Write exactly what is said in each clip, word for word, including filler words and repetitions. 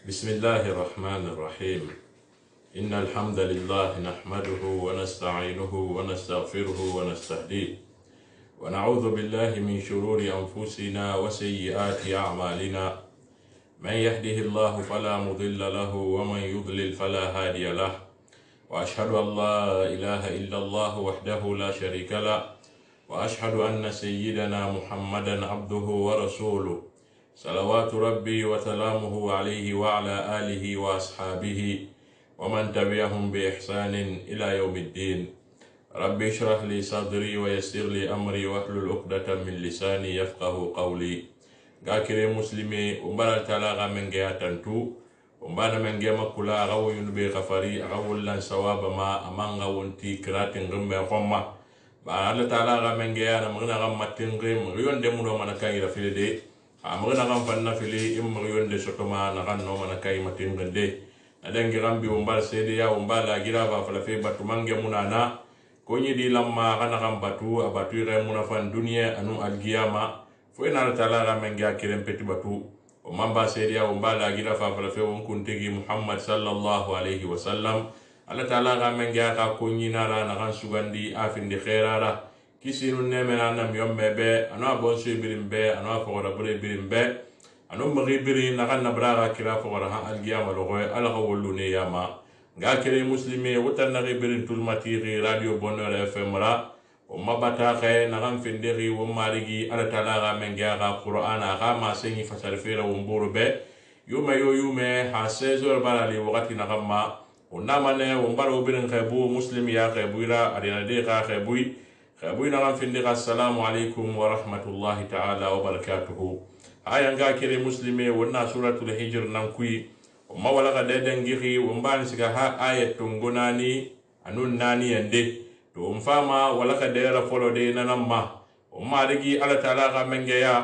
بسم الله الرحمن الرحيم إن الحمد لله نحمده ونستعينه ونستغفره ونستهديه ونعوذ بالله من شرور أنفسنا وسيئات أعمالنا من يهده الله فلا مضل له ومن يضلل فلا هادي له وأشهد أن لا إله إلا الله وحده لا شريك له وأشهد أن سيدنا محمدا عبده ورسوله صلوات ربي وسلامه عليه وعلى آله وأصحابه ومن تبعهم بإحسان إلى يوم الدين. ربي اشرح لي صدري ويسر لي أمري واحلل عقدة من لساني يفقه قولي. غاكري مسلمي ومبارا تلاغا من جهة تنتو ومبارا من جهة مكولا غو ينبي غفري غو لن سواب ما أمان غو انتي كرات غمي خمّا بأنا تلاغا من جهة نمغنا غمتين غم غيون دمونو من كاي رفيل دي amagana kan fanna fili imma yonde sotoma na kan no mana kay matin gande adangi rambi umbal sede ya umbala gira ba fala fe batu mange munana konyi di lamma kana kan batu abatu re munafan dunia anu algiyama fo ina taala ga menga kirem peti batu o mamba sede ya umbala gira fa fala fe won kuntegi muhammad sallallahu alaihi wasallam alla taala ga menga ka konyi nara na kan sugandi afindi khairara kisinu nemena nam yomme be ano bonso birim be ano fogora bure birim be ano magi biri na kan nabraga kira fogora ha algiyama logo ala hawlu ne yama ga kire muslimi wutan na birin tulmatiri radio bonheur fm ra o mabata khay na kan findiri wo marigi ala taala ga menga ga qur'ana ga ma sengi fasar fera wo mburu be yuma yo yume ha seize heures barali wakati na kamma o namane wo mbaro birin khaybu muslimi ya khaybuira arina de ga khaybuy خابوينا غان فندق السلام عليكم ورحمة الله تعالى وبركاته. هاي انغا كري مسلمي ونا سورة الحجر نمكوي وما ولغا ديدن جيخي ومبان سيكا ها آية تنغناني أنون ناني يندي تو مفاما ولغا ديرا فولو دينا نما وما رجي على تلاغا منجيا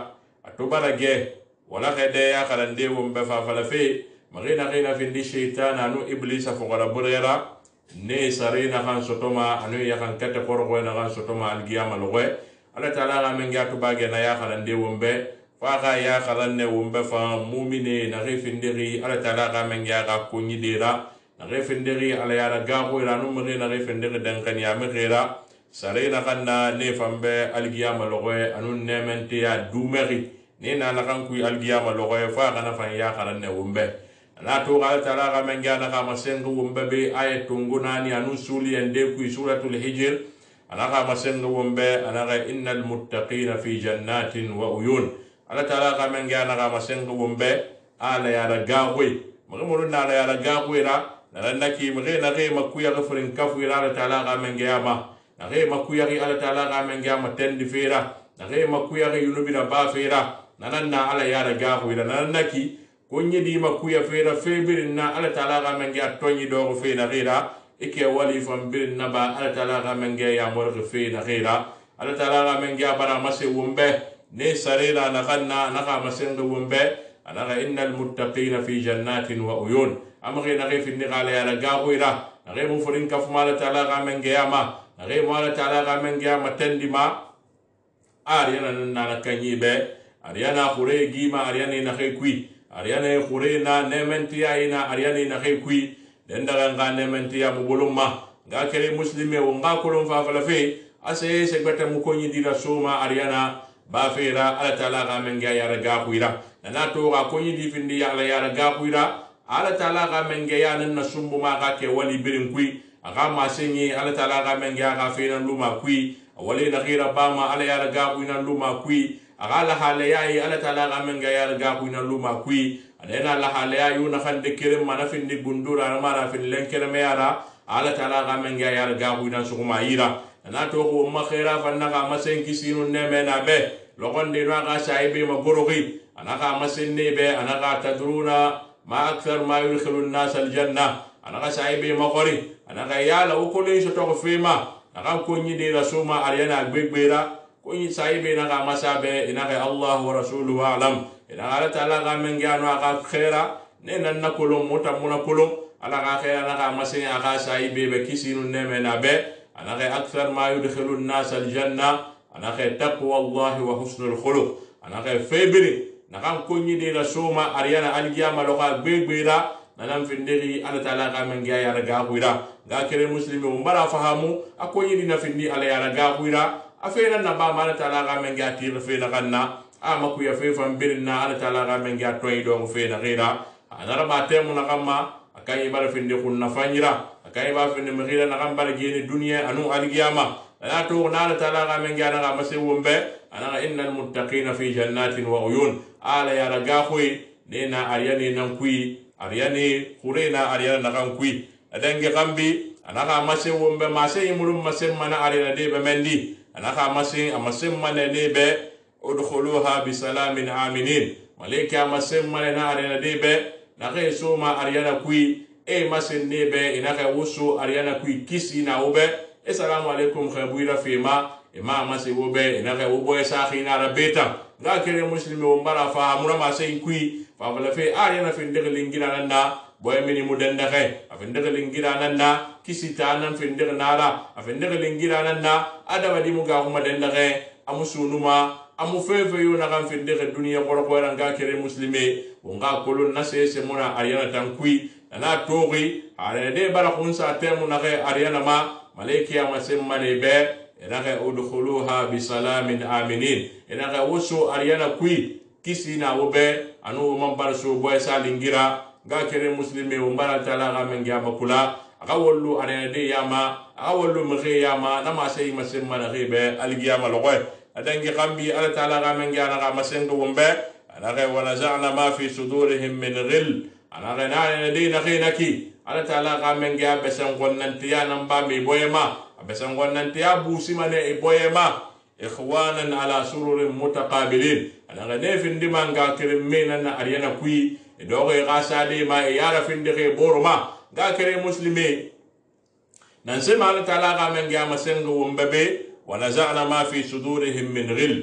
أتوبالا جي ولغا ديا خلندي ومبفا فلفي مغينا غينا فندي شيطان أنو إبليس فغلا بريرا ne sarina kan sotoma anu ya kan kete korgo na kan sotoma algiyama logo ala taala ga men ga to bage na ya khalande wombe fa ga ya khalanne wombe fa mu'mine na refindiri ala taala ga men ga ga kunyi dira na refindiri ala ya ga go ira no me na refindiri dan kan ya me gira sarina kan na ne fambe algiyama logo anu ne mente ya dumeri ne na la kan ku algiyama logo fa ga na fa ya khalanne wombe na to ga taala ga men ga na ga masengu wombe be ay tunguna ni anu suli ende ku suratul hijr ana ga masengu wombe ana ga innal muttaqina fi jannatin wa uyun ala taala ga men ga na ga masengu wombe ala ya ga goy mo na ala ya ga goy ra na naki mo na ge makuya ga furin kafu ala taala ga men ga ma na ge makuya ga ala taala ga men ga ma tendi fera na ge makuya ga yunubi na ba fera na na ala ya ga goy na naki konye di makuya fera febirin na ala taala ga men ga tonyi do fe na gira ike wali fam birin na ba ala taala ga men ga ya mor fe na gira ala taala ga men ga bara mase wumbe ne sarira na kanna na ga masen do wumbe ana ga innal muttaqina fi jannatin wa uyun amri na fi ni gala ya ga goira na ga mu furin kaf mala taala ga men ga ma na ga mala taala ga men ga matendi ma ariana na na kanyi be ariana khure gima ariana na kai kui ariane khurena nementiya ina ariane na khekui dendaga nga nementiya mubulumma nga kere muslime wo nga kolon fa fala fe ase se gbata mu ko nyidi la soma ariana ba fera ala taala ga men ga yara ga kuira na to ga ko nyidi findi ya ala yara ga kuira ala taala ga men ga yana na sumbu ma ga ke wali birin kui aga ma senyi ala taala ga men ga ga fera luma kui wali na gira ba ma ala yara ga kuina luma kui agala halaya ala taala ga men ga yar ga ku na luma kui adena la halaya yu na khande kire mana findi gundura mara fin lenkere me yara ala taala ga men ga yar ga ku na suguma ira na to ko ma khaira fanna ga masen kisinu ne me na be logonde no ga saibe ma gorogi ana ga masen ne be ana ga tadruna ma akthar ma yulkhilun nas al janna ana ga saibe ma gori ana ga yala ukuli so to fema ana ko nyi de rasuma ariana gbegbera kuni saibe na ga masabe ina ga Allah wa rasuluhu alam ina ala taala ga men ga no ga khaira ne nan na kolon mota muna kolon ala ga khaira na ga masin aga saibe be kisinu ne me na be ana ga akthar ma yudkhilu an-nas al-janna ana ga taqwa Allah wa husnul khuluq ana ga febri nakan konyi de la soma ariyana algiyama loka gbegbera nanan findiri ala taala ka men ga yara ga huira ga kere muslimi o mbara fahamu akonyi dina findi ala yara ga huira afena na ba ala taala ka men ga tir fe na kanna ama ku ya fe fam birna ala taala ka men ga toy do fe na gira anara ba temu na kamma akai bar findi kunna fanyira akai ba findi mkhira na kambal gene dunya anu algiyama la to na ala taala ka men ga na mase wombe ana innal muttaqina fi jannatin wa uyun ala yara ga hui nena ariyani nan kui ariyani kurena ariyana nakan kui adange kambi anaka mase wombe mase imulum mase mana ariyana de be mendi anaka mase amase mana de be udkhuluha bi salamin aminin malaika mase mana na ariyana de be nake soma ariyana kui e mase de be inaka wusu ariyana kui kisi na obe assalamu alaikum khabuira fima ima mase wobe inaka wobo esa khina rabeta ga kere muslimi wo mbara fa amura mase kui fa fala fe ariyana fin de lingira nanda boy mini mudanda khay afin de lingira nanda kisi tanan fin de nara afin de lingira nanda adama di muga kuma danda khay amusunuma amu fefe yo na kan fin de duniya ko ko ran ga kere muslimi wo nga kolon na se se mona ariyana tan kui na togi are de bara khunsa temu na khay ariyana ma malaiki ya masemma ne be enaka udkhuluha bi salamin aminin enaka wusu ariyana kui kisi na wobe anu man barso boy salingira ga kere muslimi o mbara tala ga men ga makula aga wollu ariyana de yama aga wollu mxe yama na ma sey masemma na ribe algiyama logoy adangi kambi ala tala ga men ga na ga masengo wombe anaka wala za'na ma fi sudurihim min ghil anaka na de na khinaki ala tala ga men ga besan gonnantiya nan ba mi boyema besan gonnantiya busi mane e boyema ikhwanan ala sururin mutaqabilin anaka ne findi manga kere mena na ariyana kui e dogo e gasade ma e yara findi ke boroma ga kere muslimi nan se mal taala ga men ga masengo wombebe wa naza'na ma fi sudurihim min ghil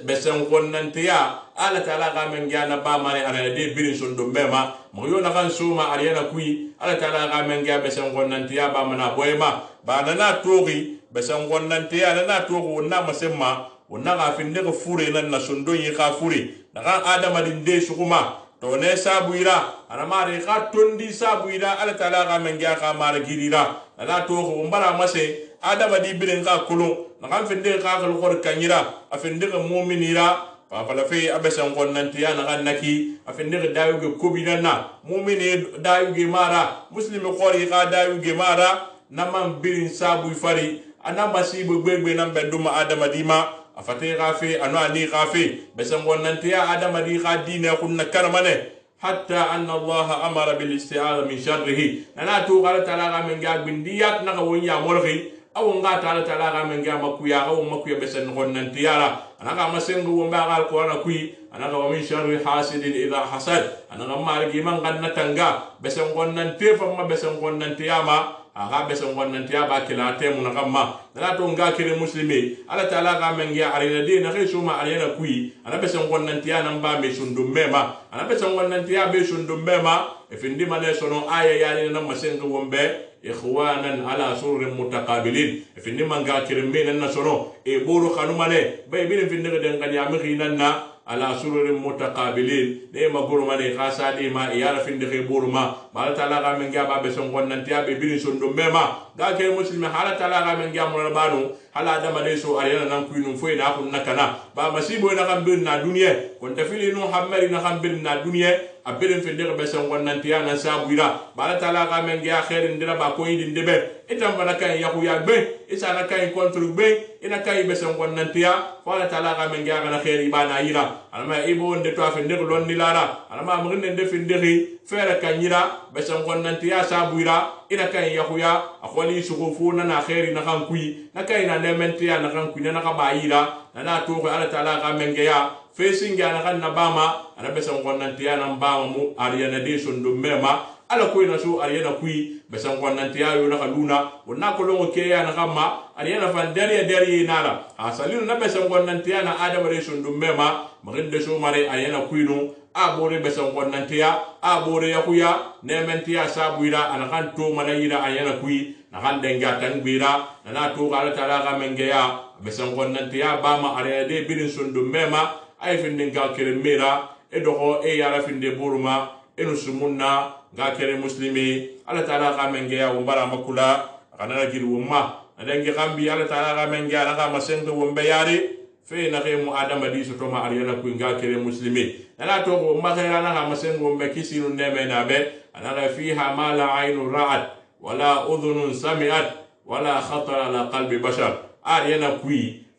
besan gonnantiya ala taala ga men ga na ba mane ariyana de birin sondo mema mo yo na kan suma ariyana kui ala taala ga men ga besan gonnantiya ba mana boyema ba na togi besan gonnantiya na togo na masemma wonna ga finde ko fure nan na sondo yi ka fure daga adama din de sukuma to ne sabuira ana mare ka tondi sabuira ala taala ga men ga ka mare girira na togo mbara mase adama di bilen ka kulun na kan finde ka ka khor kanyira afinde ko mu'minira fa fala fe abesan gonnantiya na kan naki afinde ko dayuge kobinana mu'mini dayuge mara muslimi khori ka dayuge mara naman birin sabu fari ana masibu gbegbe nan beduma adama dima afate gafe anu ani gafe besan gonnantiya adama di gadine kunna karmane hatta anna allah amara bil isti'adha min sharrihi ana to qala talaga men ga bindiyat na wonya morgi aw nga taala talaga men ga makuya aw makuya besan gonnantiya la ana ga masengu womba gal ko na kui ana ga min sharri hasidin idha hasad ana ga margi man ganna tanga besan gonnantiya fa ma besan gonnantiya ma aga besan gonnantiya ba kila temu na kamma na to nga kire muslimi ala taala ga men ya arina de na khisu ma arina kui ana besan gonnantiya nan ba me sundum mema ana besan gonnantiya be sundum mema e findi mane sono aya ya ni nan masengo wombe ikhwanan ala sururin mutaqabilin e findi man ga kire me nan na sono e boro kanumane bay bin findi ga den kan ya mi khinan na ala sururin mutaqabilin de ma goro mane khasa de ma yara findi ke boro ma bala taala ga men ga ba besan gonnantiya be bin sundum mema ga ke muslimi hala taala ga men ga mo banu hala adama de so arena nan kuinu foi na kun nakana ba masibo na kan bin na duniya kon tafili no hammari na kan bin na duniya abelin findi ke besan gonnantiya na sabuira bala taala ga men ga khairin dira ba ko yidin debe itam bana kan yahu ya be isa na kan kontrol be ina kai besan gonnantiya wala taala ga men ga na khairi bana yira alama ibo nde to afinde ko lon nilara alama mo nde finde ri fere kanyira besan gonnantiya sabuira ina kan yahuya akhwali sugufuna na khairi na kan kui na kai na nementiya na kan kui na ka bayira na na to ko ala taala ga men ga facing ga na kan na bama ana besan gonnantiya na bama mu ariyana de sondo mema ala ko ina so ariyana kui besan gonnantiya yo na kaluna wonna ko longo ke ya na kama ariyana fan dariya dariya nara asalinu na besan gonnantiya na adama de sondo mema maginde so mare ariyana kui no abore besan gonnantiya abore yakuya nementiya sabuira ana kan to malayira ariyana kui na kan denga tangbira na na to ala taala ga mengeya besan gonnantiya bama ariyana de birin sondo mema ay findin ga kire mera e doxo e yara finde buruma enu sumunna ga kere muslimi ala taala ga mengeya wombara makula kana giri wumma adangi gambi ala taala ga mengeya naga masenga wombe yari fe na ge mu adama di soto ma ariyana ku ga kere muslimi ala to go magera naga masenga wombe kisinu neme na be anaga fiha ma la aynu ra'at wala udhunun sami'at wala khatara ala qalbi bashar ariyana ku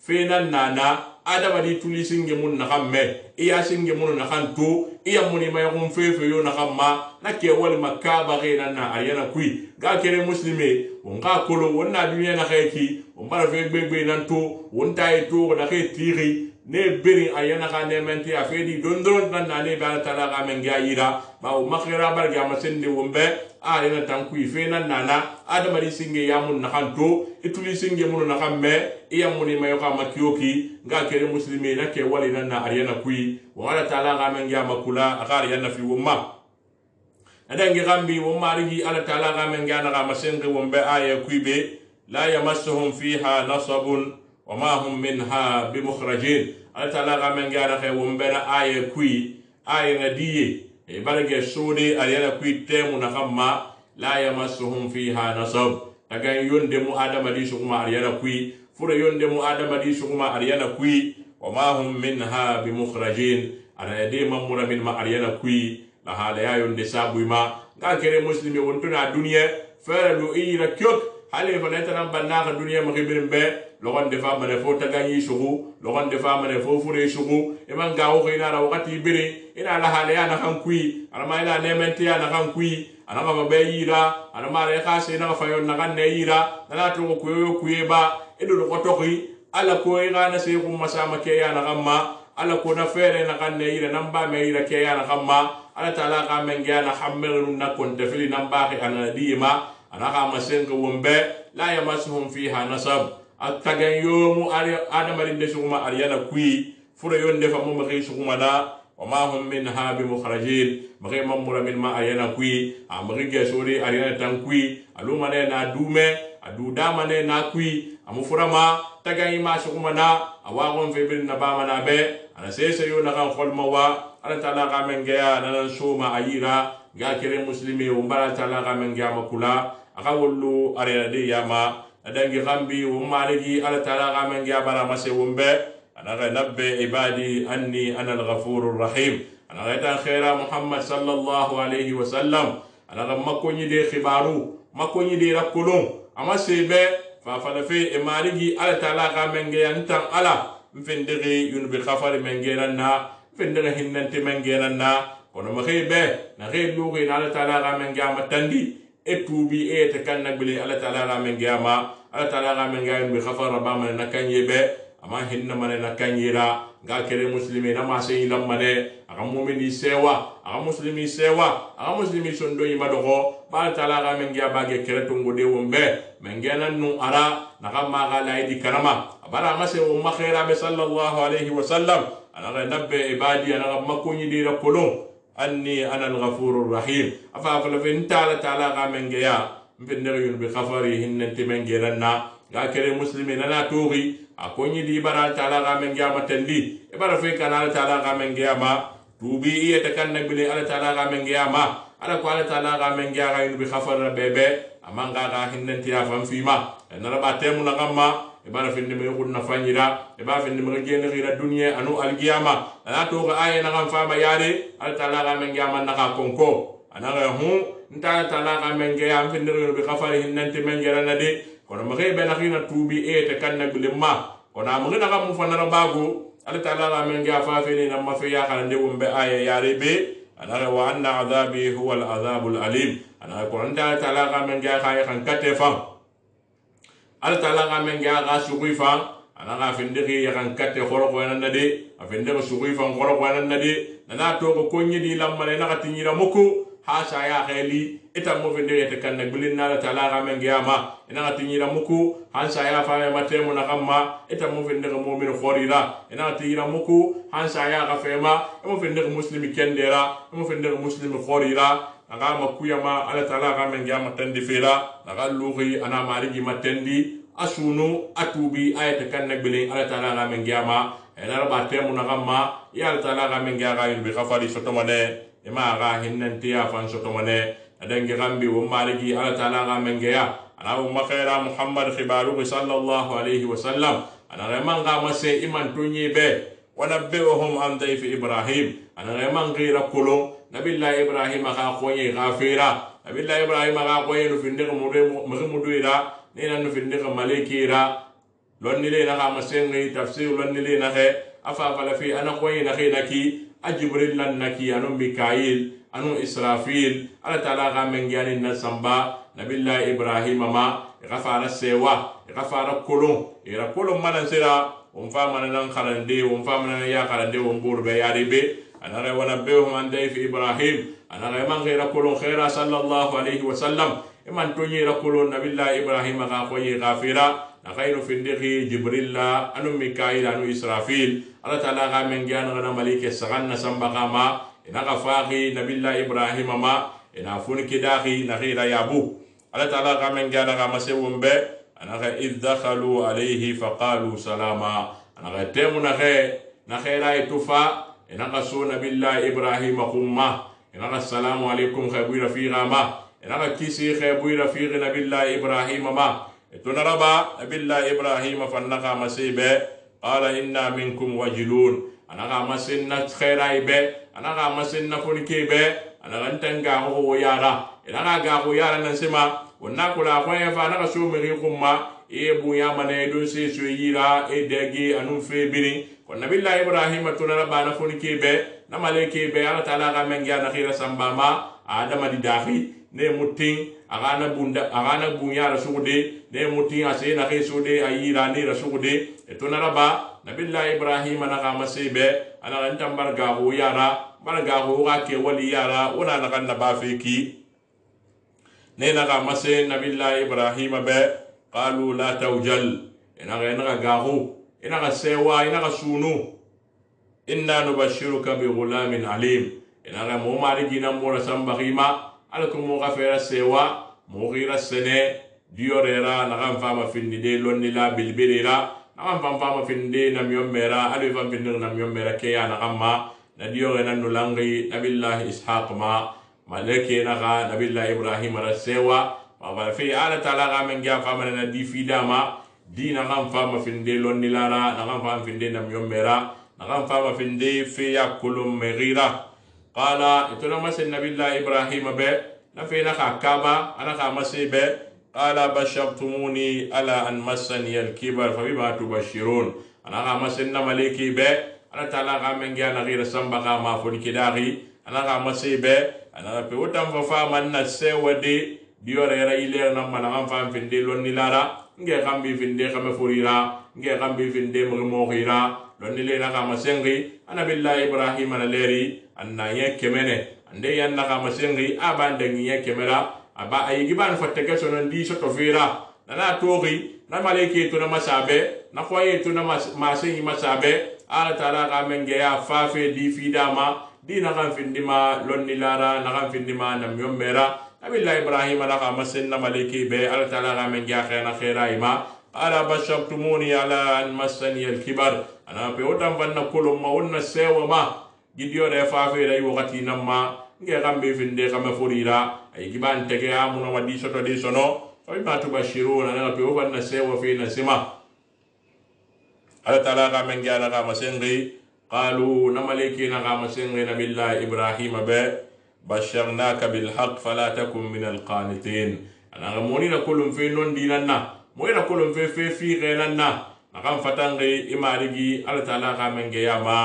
fe nan nana adama di tuli singe mun na kamme iya singe mun na kanto iya muni may gun fefe yo na kamma na ke wal makaba ge nan na ayana kui ga kere muslime on ga kolo wonna duniya na kheki on bara fe gbegbe nan to on tay to na ke tiri ne beri ayana ka ne menti afedi dondron nan na ne ba tala ga men ga yira ba o makhira bar ga masende wombe ayana tan kui fe nan nana adama di singe ya mun na kanto ituli singe mun na kamme iya muni may ka makiyoki ga kere muslimi na ke wali nan na ariyana kui wala taala ga men ga makula agar yana fi wumma adangi gambi wumma rigi ala taala ga men ga na ga masengi wumbe aya kuibe la yamassuhum fiha nasabun wama hum minha bimukhrajin ala taala ga men ga na ke wumbe na aya kui aya ngadiye e barage sode ariyana kui temu na kamma la yamassuhum fiha nasab daga yonde mu adama di sukuma ariyana kui fure yonde mu adama di sukuma ariyana kui wama hum minha bimukhrajin ana de mamura min ma ariyana kui la hala ya yonde sabu ma ga kere muslimi wontuna duniya fere lu ira kyok hale fa neta nan banna ka duniya ma khibirin be logon defa mane fo taganyi sugu logon defa mane fo fure sugu e man ga wo ina ra wakati bire ina la hala ya na kan kui ana ma ila nementi ya na kan kui ana ma be yira ana ma re khase na fa yon na kan ne yira na to ko yo kuyeba edo ko toki ala ko ira na se ko masama ke ya na gamma ala ko na fere na kan ne yira namba me yira ke ya na gamma ala taala ka men ga na hammeru na kon tafili namba ke ana dima ana ka masenga wombe la yamasuhum fiha nasab atagan yomu adama rinde suguma ariyana kui fure yonde fa mo magi suguma da wama hum minha bimukhrajin magi mamura min ma ariyana kui amagi ge sori ariyana tan kui aluma ne na dume adu dama ne na kui amufurama tagan ima suguma na awagon febin na ba mana be ana sese yo na kan kholma wa ala taala ga men ga nan soma ayira ga kere muslimi umbara taala ga men ga makula aka wollu ariyana de yama adangi gambi umaligi ala taala ga men ga bara mase wumbe ana ga nabbe ibadi anni ana al-ghafurur rahim ana ga ta khaira muhammad sallallahu alaihi wasallam ana ga makonyi de khibaru makonyi de rakulun ama sebe fa fa fe e maligi ala taala ga men ga yantan ala mfendiri yun bi khafari men ga na mfendiri hinnanti men ga na kono ma khebe na khebe lugi ala taala ga men ga matandi etubi e te kan nagbili ala taala ga men ga ma ala taala ga men ga bi khafara ba man nakanyebe ama hinna mane nakanyira ga kere muslimi na ma sey lamane aga mu'mini sewa aga muslimi sewa aga muslimi sondo yima dogo ba taala ga men ga bage kere tongo de wombe men ga nan nu ara na ga ma ga laidi karama bara ma se umma khaira be sallallahu alaihi wasallam ana ga nabbe ibadi ana ga makunyi di rakolon anni ana al-ghafurur rahim afa fa la fin taala taala ga men ga ya mbindere yun bi khafari hinnanti men ga ranna ga kere muslimi na togi akonyi di bara taala ga men ga matandi e bara fe kana taala ga men ga ma tubi iya takan nabile ala taala ga men ga ma ala ko ala taala ga men ga yun bi khafara bebe amanga ga hinnanti ya fam fima na raba temu na gamma e bara fe ndeme ko na fanyira e bara fe ndeme gene gira dunya anu alqiyama na to ga aya na gam fama yare ala taala ga men ga man na ka konko ana ga hu nta taala ga men ga am fe ndere bi khafari hinnanti men ga na de kono mage be na khina tubi e te kan nagule ma kono am ngina ga mu fa na bago ala taala ga men ga fa fe ni na ma fe ya kan de wumbe aya yare be ana wa anna adhabi huwa al adhabul alim ana ko nda taala ga men ga khay kan kate fa ala taala ga men ga ga sugui fa ana ga findiri ya kan kate khoro ko nan de afindiri sugui fa khoro ko nan de na to ko konyi di lamale na katinyira muku ha sa ya kheli ita mo findiri te kan nagulin na taala ga men ga ma ina katinyira muku han sa ya fa ma temu na kamma ita mo findiri mu'min khorira ina katinyira muku han sa ya ga fema mo findiri muslimi kendera mo findiri muslimi khorira aga makuya ma ala taala ga men ga matandi fela aga lugi ana marigi matandi asunu atubi ayata kan nagbele ala taala ga men giyama ena raba temu na gamma ya ala taala ga men giya ga yurbi khafari sotomane ema ga hinnanti ya fan sotomane adangi gambi wo maliki ala taala ga men giya ana umma khaira muhammad khibaru sallallahu alaihi wasallam ana reman ga mase iman tunyi be ونبئهم عن ضيف إبراهيم أنا غيمان غير كلهم نبي الله إبراهيم أخاقوني غافيرا نبي الله إبراهيم أخاقوني نفندق مغمدويرا نينا نفندق مليكيرا لون لي نخا مسينغي تفسير لون لي نخي أفافل في أنا قوي نخي نكي أجبريل لن نكي أنو ميكائيل أنو إسرافيل أنا تلاغا من جاني النسنبا نبي الله إبراهيم ما غفار السيوا غفار كلهم إذا كلهم من سيرا ومفامنا نخرندي ومفامنا يا خرندي ومبور بياري بي أنا غير ونبئهم عن ضيف إبراهيم أنا غير من غير كل خير صلى الله عليه وسلم إما توني ركول نبي الله إبراهيم غاقوي غافرا نخير في الدخي جبريل أنو ميكائيل أنو إسرافيل الله تعالى غامن جان غنا ملك السغن سنبقى ما إنا غفاقي نبي الله إبراهيم ما إنا فون كداخي نخير يابو الله تعالى غامن جان غامسيوم بي أنا إذ دخلوا عليه فقالوا سلاما أنا تيمو نخي نخي راي تفا إنا قصونا بالله إبراهيم خما إنا السلام عليكم خيبوي رفيقا ما إنا كيسي خيبوي رفيق نبي الله إبراهيم ما تنربا نبي الله إبراهيم فنقا مسيبه قال إنا منكم وجلون أنا مسنا خيراي به أنا مسنا فنكي به أنا غنتنقا هو يارا إنا غاقو يارا نسمع ونakula kwaya fa na so meri kuma e buya mana do se so yira e dege anu fe bini ko nabillahi ibrahim tunara bana foni kebe na maleke be ala taala ga men ya na khira sambama adama di dahi ne mutin agana bunda agana buya rasude ne mutin ase na khe sude ayira ni rasude e tunara ba nabillahi ibrahim na ga masebe ana ran tambar ga ho yara barga ho ga ke wali yara ona na kan na ba fe ki نينا مسين نبي الله إبراهيم به قالوا لا توجل إنا غينا غاهو إنا غسوا إنا غسونو إنا نبشرك بغلام عليم إنا غمو مارجينا مورا سنبغيما عليكم مغفر السوا مغير السنة ديوريرا نغم فاما في الندي لونيلا بالبريرا نغم فاما فاما في الندي نميوم ميرا ألي فاما في الندي نميوم ميرا كيا نغم نديورينا نلانغي نبي الله إسحاق ما maleke naga nabillahi ibrahim rasewa ma fi ala taala ga men ga famana na di fidama dina ngam fama finde lonni lara na ngam fama finde nam yommera na ngam fama finde fi yakulum megira qala ituna mas nabillahi ibrahim be na fi na kaba ana ka masibe qala bashartumuni ala an massani al-kibar fa bima tubashirun ana ka masenna maleki be ala taala ga men ga na gira samba ga ma foni kidari ana ka masibe ana pe utam fa fa man na sewade diore ra ile na man am fa finde lonni lara nge kambi finde kama furira nge kambi finde mo mo khira lonni le na kama sengi ana billahi ibrahim na leri anna ye kemene ande yan na kama sengi abande ngi kemera aba ayi giban fatte ke sonon di soto fira na togi na maleke to na masabe na khoye to na masengi masabe ala taala ga menge ya fa fe di fidama dina kan findima lonni lara na kan findima nam yommera nabillahi ibrahim ala ka masenna maliki be ala taala ga men ja khana khaira ima ala bashartumuni ala an massani al-kibar ana pe otam vanna kolum ma wonna sewa ma gidio de fa fe dai wakati namma nge kambe finde kama furira ay giban tege amuno wadi soto de sono fa ma tubashiruna na pe vanna sewa fe na sima ala taala ga men ja ga masengi قالوا نملكي نغام سنغنا بالله إبراهيم به بشرناك بالحق فلا تكن من القانتين أنا غموني نقولهم في نون ديننا موي نقولهم في في في غيرنا نغام فتنغي إمارجي على تعالى غامن جياما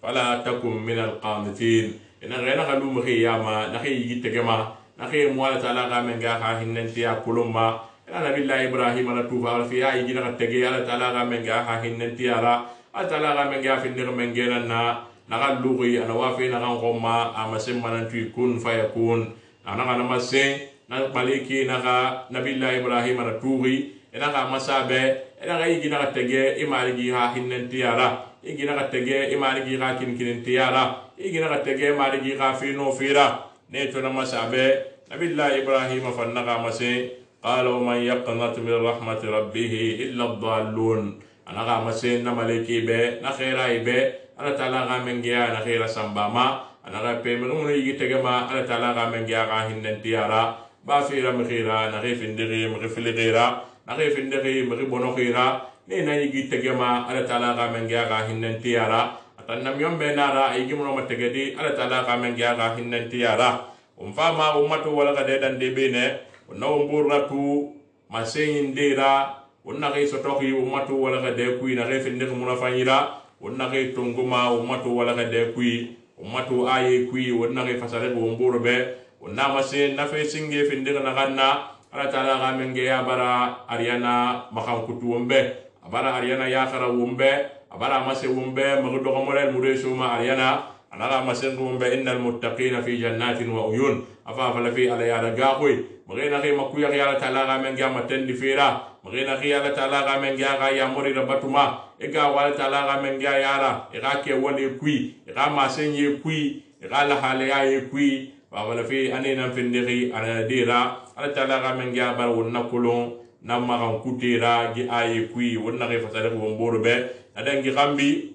فلا تكن من القانتين إن غيرنا غلوم غياما نخي يجتجما نخي موالة تعالى غامن جاها هننتيا كلما أنا بالله إبراهيم أنا توفى في أي جنا تجي على تعالى غامن جاها هننتيا را atala ga men ga findir men geran na naga lugi ana wafi na kan gomma amasim manan tu kun fayakun ana kana masse na maliki naga nabillahi ibrahim na tugi ina ga masabe ina ga yigi na tege imarigi ha hinnen tiara yigi na tege imarigi ha kin kin tiara yigi na tege imarigi ha fino fira ne to na masabe nabillahi ibrahim fa naga masse قال ومن يقنط من رحمة ربه إلا الضالون أنا غا مسين نمالكي بي نخيرا بي أنا تعالى غا من جيا نخيرا سنباما أنا غا بيمنون يجي تجمع أنا تعالى غا من جيا غا هندن تيارا بافيرا مخيرا نخيف اندغي مغفل غيرا نخيف اندغي مغبونو خيرا نينا يجي تجمع أنا تعالى غا من جيا غا هندن تيارا أتنم يوم بينارا يجي منو متجدي أنا تعالى غا من جيا غا هندن تيارا ومفاما أمتو ولا غديدان دي بينه ونوم بوراتو مسين ديرا ونغي سوتوخي وماتو ولا غديكوي نغي فندق منافانيرا ونغي تونغوما وماتو ولا غديكوي وماتو آيه كوي ونغي فسالك ومبور بي ونما سين نفي سنجي فندق نغانا على تعالى غامنجي أبرا أريانا مخان كتو ومبي أبرا أريانا ياخرا ومبي أبرا مسي ومبي مغدو غمرين مريسو ما أريانا أنا لا مسنهم بأن المتقين في جنات وعيون أفافل في على يالا غاوي مغينا غي مكويا يالا تالا من جا متن فيرا مغينا غي يالا تالا من جا غا ياموري ربطما إغا والا تالا من جا يالا إغا كي ولي كوي إغا ما سنجي كوي إغا لحالي كوي فافل في أنينا فندغي أنا ديرا على تالا من جا بر ونكولون نما غن كوتيرا جي آي كوي ونغي فسالك ومبور بي ندنجي غامبي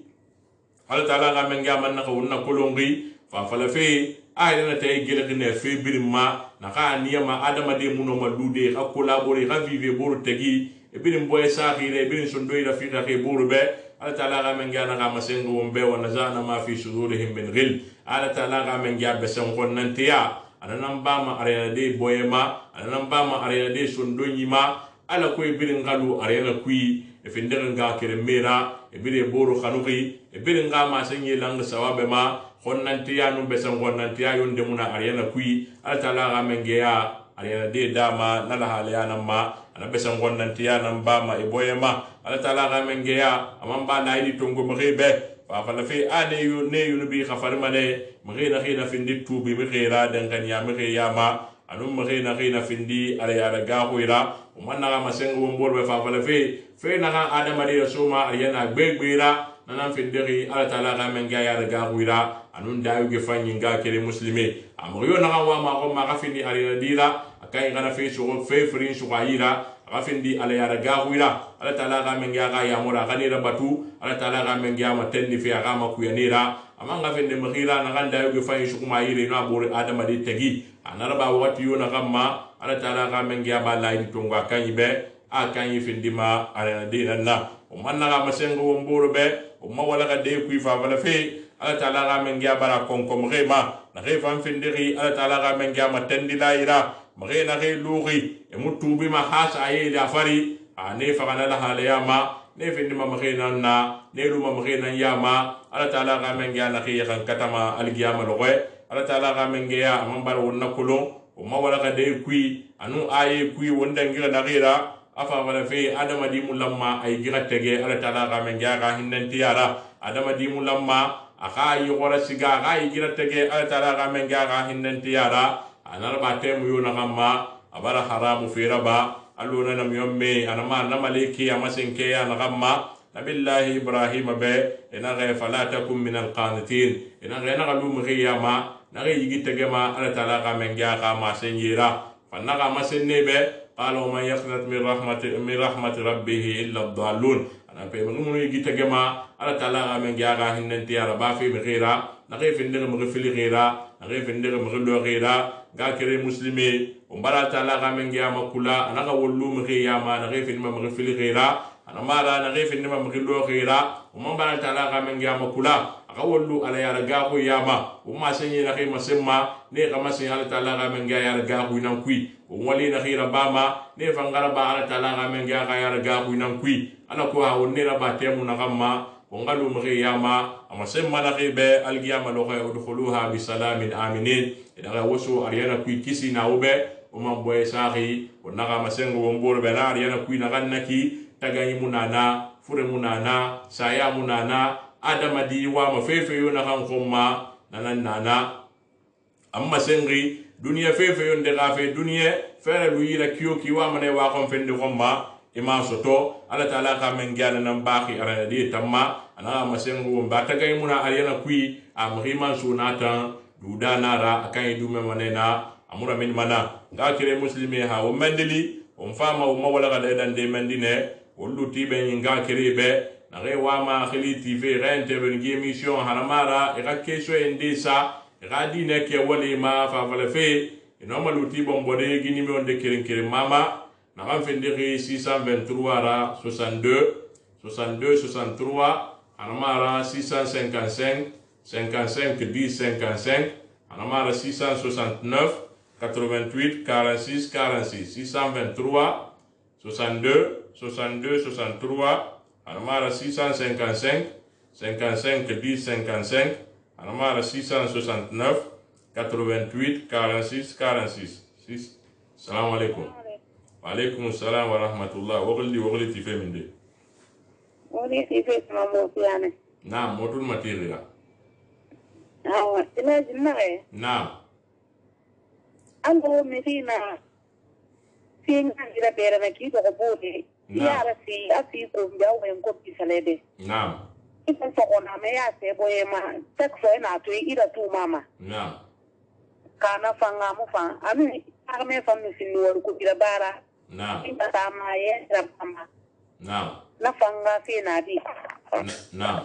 Allah Ta'ala ga men ga man na ko na kolongi fa fala fe ay na tay gele ne fe birima na ka niyama adama de muno malude ka collaborer ka vivre boro tegi e birim boy saxire birim sondo ila fi ka boro be Allah Ta'ala ga men ga na ga masengo wombe wa nazana ma fi sudurihim min ghil Allah Ta'ala ga men ga besen kon nantiya ananan bama arena de boyema ananan bama arena de sondo nyima ala ko birim galu arena kui e findere nga kere mera e bire boro khanuki e bire nga ma senye lang sawabe ma khonnantiya no besan khonnantiya yonde muna ariana kui ala taala ga mengeya ariana de dama nala haliyana ma ana besan khonnantiya nan ba ma e boyema ala taala ga mengeya amamba na idi tongo mrebe fa fa la fi ane yu ne yu bi khafarma ne mrena khina findi tubi mrera dan kan ya mreya ma anum mrena khina findi ala ya ga hoira umanna ga masengo mborbe fa fa la fi fe naga adama de suma ariana gbegbera nanan findiri ala taala ga men ga ya ga huira anun dayu ge fanyi nga kele muslimi amriyo naga wa ma ko ma ga findi ariana dira akai gana fe so fe frin so gaira ga findi ala ya ga huira ala taala ga men ga ga ya mura ga ni rabatu ala taala ga men ga ma tenni fe ga ma ku yanira amanga findi mkhira naga dayu ge fanyi so kuma yire no abore adama de tegi anaraba wati yo naga ma ala taala ga men ga ba laidi tonga kanyi be akan yifindima ala dina na umanna ga masengo womboro be umma wala ga de ku fa wala fe ala taala ga men ga bara kon kom rema na re fam findiri ala taala ga men ga matendi laira mare na re luri e mutubi ma hasa ayi da fari ane fa kana la haliyama ne findima mare na na ne luma mare na yama ala taala ga men ga na re kan katama algiyama lowe ala taala ga men ga ambar wonna kulon umma wala ga de ku anu ayi ku wonda ngira na gira afa wala fe adama di mulamma ay gira tege ala taala ga men ga hinnan tiyara adama di mulamma aka yi gora siga ga gira tege ala taala ga men ga hinnan tiyara anar ba temu yo na gamma abara haramu fi raba aluna nam yomme anama na maliki amasenke ya na gamma nabillahi ibrahim be ina ga fala takum min alqanitin ina ga na galu mriyama na ga yigi tege ma ala taala ga men ga ma senjira fanna ga masenne be قالوا من يقنط من رحمة من رحمة ربه إلا الضالون أنا في مغمون يجي تجمع على تلا من جارا هننتي على بافي بغيرا نغيف النغ مغفل غيرا نغيف النغ مغلو غيرا غاكري مسلمي ومبارا تلا من جامع كلا أنا قولو مغيا ما نغيف النغ مغفل غيرا أنا مارا نغيف النغ مغلو غيرا ومبارا تلا من جامع كلا akawollu ala yara gahu yama umma senye na khima semma ne kama sen ala taala ga men ga yara gahu nan kui umwali na khira bama ne fangara ba ala taala ga men ga yara gahu nan kui ala ko ha wonni raba temu na gamma ongalu mri yama ama semma na khibe algiyama lo khay udkhuluha bi salamin aminin ida ga wosu ariana kui kisi na ube umma boye sahi onna ga masengo wombor be na ariana kui na gannaki tagayi munana fure munana saya munana adama di wa ma fefe yo na kan khumma nanan nana amma sengi dunia fefe yo ndega fe dunia fere lu yira kiyo ki wa mane wa kon fende khumma ima soto ala taala ka men gana nan baki ara di tamma ana ma sengu mba tagay muna ariana kui am riman sunata duda nara akan dume manena amura min mana ga kire muslimi ha o mandeli on fama o mawala ga dan de mendine wollu tibe nyinga kiribe na re wa ma khili tv rente ben gi emission hanamara e ga keso ende sa e ga dine ke wali ma fa fala fe ino maluti bombode gi numéro de kirin kirin mama na ga fendiri six cent vingt-trois ra soixante-deux soixante-deux soixante-trois hanamara six cent cinquante-cinq cinquante-cinq dix cinquante-cinq hanamara six cent soixante-neuf quatre-vingt-huit quarante-six quarante-six six cent vingt-trois soixante-deux soixante-deux soixante-trois hanamara six cent cinquante-cinq cinquante-cinq dix cinquante-cinq hanamara six cent soixante-neuf quatre-vingt-huit quarante-six quarante-six. Salam alaikum. Wa alaikum salam wa rahmatullah. Wogli wogli tife minde. Wogli tife ma mofiane. Naam, motul matiriya. Awa, ina jinnae. Naam. Ando medina. Singa gira bere na ki to bode. Ya rasi asi ko mbawo en ko bisalede. Naam. Ita so ona me ya se boye ma. Tak so na to ida tu mama. Naam. Kana fanga mu fa. Ami arme fa mi sinu wor ko gira bara. Naam. Ita tama ye rabama. Naam. Na fanga fi na di. Naam.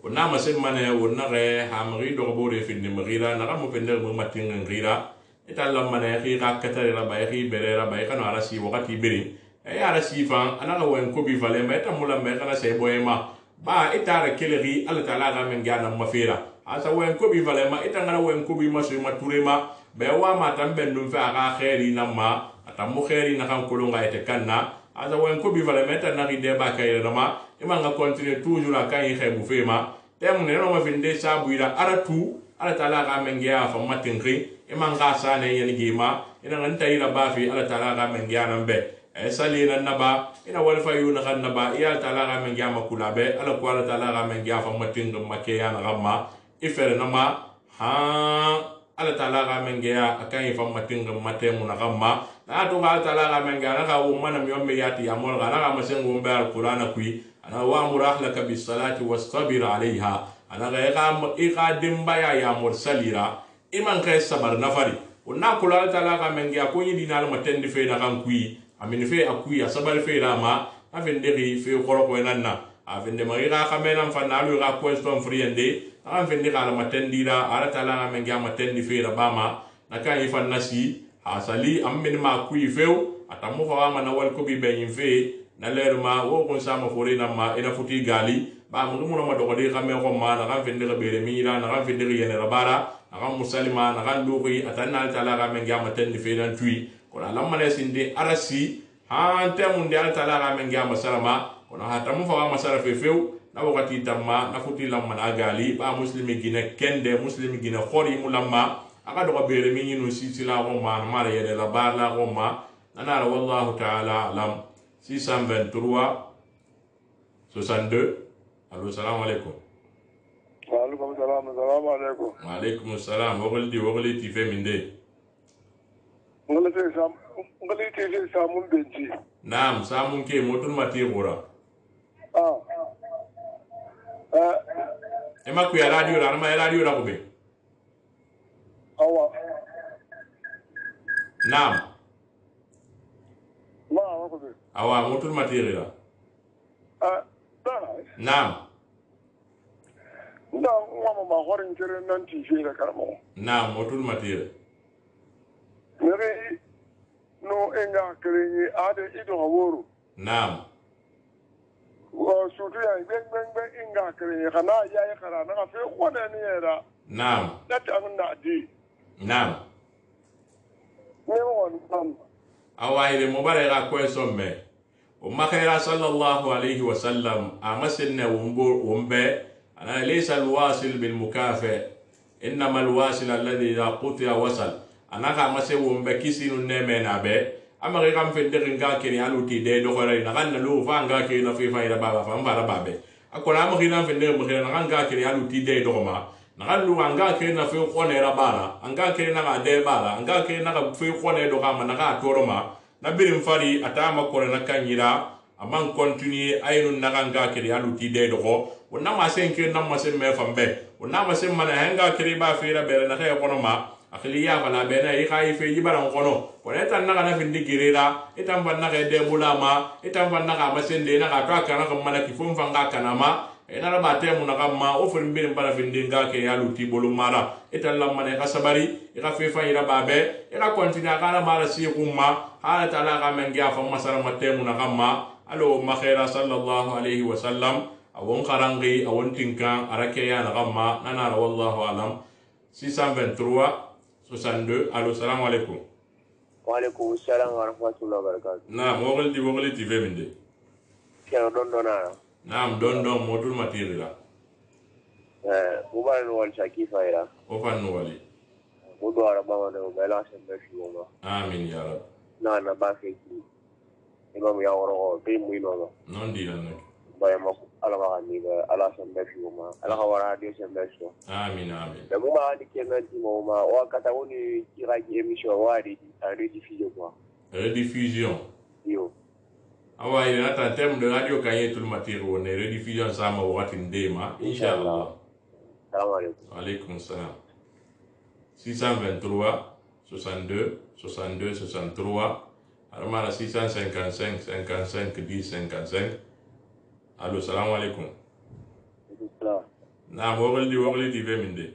Ona masen mane wona re hamri do bore fi ni mgira na mo pender mo matin ngira ita la mane ri ga katare la bay ri bere la bay kana ala si wakati beri e ala si fan ana ga wen ko bi vale ma ita mula me kana se boyema ba ita ra keleri ala taala ga men gana mafira asa wen ko bi vale ma ita ngana wen ko bi maso ma turema be wa ma tambe ndum fa ga khairi na ma ata mo khairi na kan kolonga ite kanna asa wen ko bi vale ma ita na ri de ba kay na ma ima nga continue toujours à kan yi xebu fema tem ne no ma finde sabu ira aratu ala taala ga mengia fa matinri ima nga sa ne yen gima ina nganta ira ba fi ala taala ga mengia nambe e sali na naba ina wal fa yuna kan naba ya taala ga mengia makula be ala ko ala taala ga mengia fa matinga make ya na gamma ifere na ma ha ala taala ga mengia akan yi fa matinga matemu na gamma na to ga taala ga mengia na ga wo manam yomme yati amol ga na ga masengo mbe alqur'ana kui ana wa'mur ahlaka bis salati wastabir alaiha ana ga iqam iqadim baya ya mursalira iman kai sabar nafari onna kula ta la ga mengi akonyi dinal matendi fe na kan kui amin fe akui sabar fe rama afende ri fe khoro ko nanna afende mari ga kamena fanalu ga question friende afende ga matendi ra ala ta la ga mengi matendi fe ra bama naka ifan nasi asali ammin ma kui feu atamu fa ma na wal ko bi be fe na lerma wo kon sama fore na ma ina futi gali ba mu mu ma dogode xame ko ma na kan fende bere mi ira na kan fende yene rabara na kan musalima na kan duqi atanna taala ga men gama tan fe dan tui ko la lamma ne sinde arasi ha temun de taala ga men gama salama ko na hata mu fa ma sara fe feu na wakati tamma na futi lamma na gali ba muslimi gine kende muslimi gine khori mu lamma aka dogo bere mi yinu sisila ko ma ma yene rabara ko ma nana wallahu ta'ala alam six cent vingt-trois soixante-deux. Allô, salam alaikum. Wa alaikum salam, salam alaikum. Wa alaikum salam. Wogli wogli tife minde. Ngale te sam, ngale te te samun benji. Naam, samun ke motul mati gora. Ah. Eh. Ema ku ya radio la, ma radio la kube. Awa. Naam. Ma wa kube. Awa motul mati la. Ah. Naam. Nda ngwa ma horin jere nan ti je da karamo. Naam, motul matire. Nere no enga krenyi ade ido haworo. Naam. Wa sutu ya ben ben ben enga krenyi kana ya ya kara na fe ko da ni era. Naam. Data an na di. Naam. Ne won tam. Awa ile mobare ga ko somme. وما خير صلى الله عليه وسلم أمسنا ومبه أنا ليس الواصل بالمكافئ إنما الواصل الذي إذا قطع وصل أنا كمسه ومبه كيسين النمين أبه أما غير كم في الدين كاكني على تيدي دخلنا نغنى له فان كاكني في فايدة بابا فان فارا بابه أكون أما غير في الدين مخير نغنى كاكني على تيدي دخما نغنى له أن كاكني في قونة ربارا أن كاكني نغنى دي بارا أن كاكني نغنى في قونة دخما نغنى تورما na birin fari atama ko na kanyira aman continue ayinu naganga kiri alu ti de dogo wonna ma sen ke na ma sen me fambe wonna ma sen mana hanga kiri ba fira bere na kay kono ma akhili ya fala bena i khay fe jibaran kono wala tan na kana findi girira itan fanna ka de bulama itan fanna ka masende na ka to kana ka mana ki fon fanga kana ma ena ra bate mu na kamma o fon bin bara findi nga ke ya luti bolu mara itan lamma ne ka sabari i ka fe fa ira babe i ka kontina kana mara si kumma hala taala ka men ga fa masara mate mu na kamma alo makhira sallallahu alaihi wasallam awon karangi awon tinkan arake ya na kamma nana wallahu alam. six cent vingt-trois soixante-deux. Allô, salam alaikum. Wa alaikum salam wa rahmatullahi wa barakatuh. Naam, wogli di wogli ti feminde. Kero don dona. Naam, don don modul materiala. Eh, mubara no wal shaki faira. O fan no wali. Mudu araba wa no mela sembe shuma. Amin ya rab. Na na ba fe ki. Imam ya woro be mu ino. Non di lan nak. Ba ma ala ma ni ba ala sembe shuma. Ala ka wara dio sembe shuma. Amin amin. Da mu ma ni kenan ti mo ma wa kata woni kira ki emission wa di rediffusion quoi. Rediffusion. Yo. Awa ina ta tem de radio kanye tul matiro ne rediffusion sama wakati ndema inshallah. Salam alaikum. Alaikum salam. six cent vingt-trois soixante-deux soixante-deux soixante-trois. Armala six cent cinquante-cinq cinquante-cinq dix cinquante-cinq. Allô, salam alaikum. Salam. Naam, wogli di wogli di feminde.